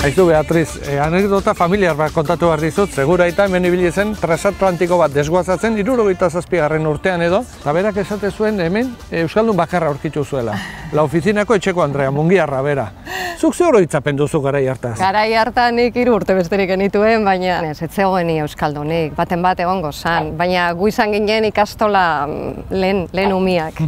Aizu, Beatriz, anekdota familiar bat kontatu behar dizut, segura eta hemen ibili zen transatlantiko bat desguazatzen 77. urtean edo, eta berak esate zuen hemen euskaldun bakarra aurkitu zuela. La ofizinako etxeko Andrea, mungiarra bera. Zuk ze oroitzapen duzu garai hartaz? Garai hartan nik 3 urte besterik genituen, baina ez zegoen euskaldunik, baten bat egongo zan, baina gu izan ginen ikastola lehen umiak.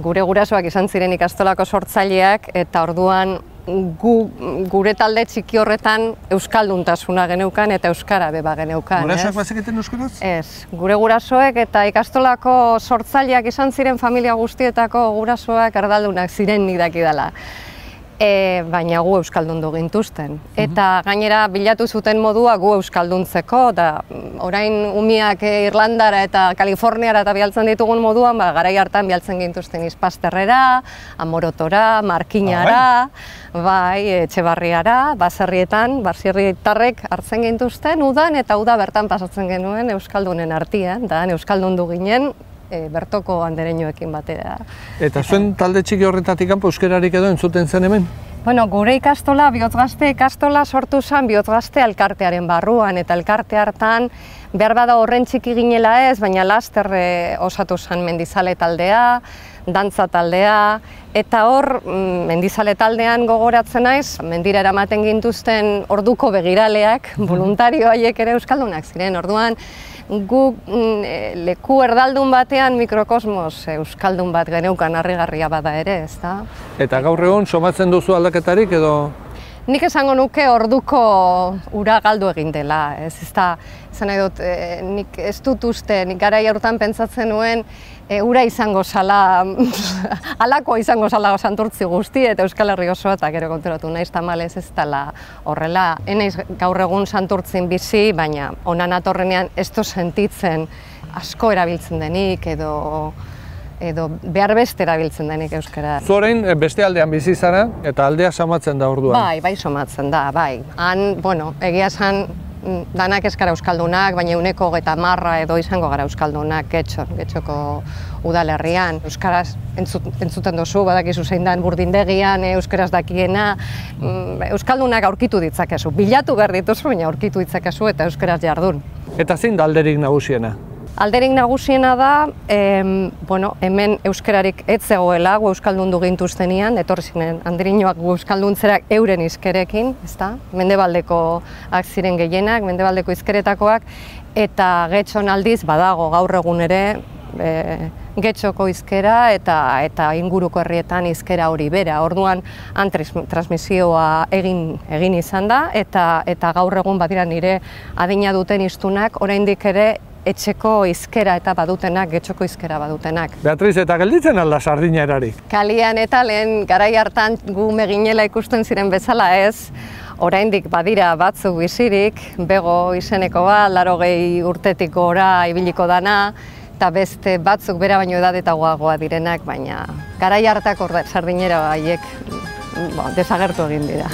Gure gurasoak izan ziren ikastolako sortzaileak, eta orduan gure talde txiki horretan euskalduntasuna geneukan eta euskara beba geneukan. Gurasoak bazeketen euskaraz? Ez, gure gurasoek eta ikastolako sortzaileak izan ziren familia guztietako gurasoak erdaldunak ziren nik dakidala. Baina gu euskaldundu gintuzten. Eta gainera bilatu zuten modua gu euskalduntzeko, da orain umiak Irlandara eta Kaliforniara eta bialtzen ditugun moduan, garai hartan bialtzen gintuzten Izpasterrera, Amorotora, Markinara, Etxebarriara, baserrietan, baserritarrek hartzen gintuzten udan, eta uda bertan pasatzen genuen euskaldunen artean, da euskaldundu ginen, bertoko andereñoekin batera. Eta zuen talde txiki horretatik kanpo euskararik edo entzuten zen hemen? Bueno, gure ikastola, Bihotzgazte ikastola sortu zen Bihotzgazte elkartearen barruan, eta elkarte hartan behar bada horren txiki ginela ez, baina laster osatu zen mendizale taldea, dantza taldea, eta hor mendizale taldean gogoratzen naiz, mendira eramaten gintuzten orduko begiraleak, voluntario haiek ere euskaldunak ziren, orduan gu leku erdaldun batean mikrokosmos euskaldun bat geneukan harrigarria bada ere, ezta? Eta gaur egun somatzen duzu aldaketarik edo? Nik esango nuke orduko ura galdu egin dela, ez da, esan nahi dut, nik ez dut uste, nik garai horretan pentsatzen nuen ura izango zala, halakoa izango zala Santurtzi guzti eta Euskal Herri osoa, eta gero konturatu naiz tamalez ez dela horrela. Enaiz gaur egun Santurtzin bizi, baina honan atorrenean ez du sentitzen asko erabiltzen denik edo behar beste erabiltzen denik euskara. Zu orain beste aldean bizi zara eta aldea somatzen da orduan? Bai, somatzen da, bai. Han, bueno, egia esan danak ez gara euskaldunak, baina 30% edo izango gara euskaldunak Getxoko udalerrian. Euskaraz entzuten duzu, badakizu zein den burdindegian, euskaraz dakiena, euskaldunak aurkitu ditzakezu. Bilatu behar dituzu, baina aurkitu ditzakezu eta euskaraz jardun. Eta zein da alderik nagusiena? Alderik nagusiena da, hemen euskararik ez zegoela, gu euskaldundu gintuztenian, etorri ziren handiriñoak gu euskalduntzera euren hizkerekin, ezta? Mendebaldekoak ziren gehienak, mendebaldeko hizkeretakoak, eta Getxon aldiz badago gaur egun ere Getxoko hizkera eta inguruko herrietan hizkera hori bera. Orduan han transmisioa egin izan da, eta gaur egun badira nire adina duten hiztunak oraindik ere etxeko hizkera eta badutenak, Getxoko hizkera badutenak. Beatriz, eta gelditzen alda sardina erarik? Kalian eta lehen garai hartan gu meginela ikusten ziren bezala ez, oraindik badira batzuk bizirik, Bego izeneko bat, 80 urtetik gora ibiliko dana, eta beste batzuk bera baino edadetagoagoa direnak, baina garai hartako sardinera haiek desagertu egin dira.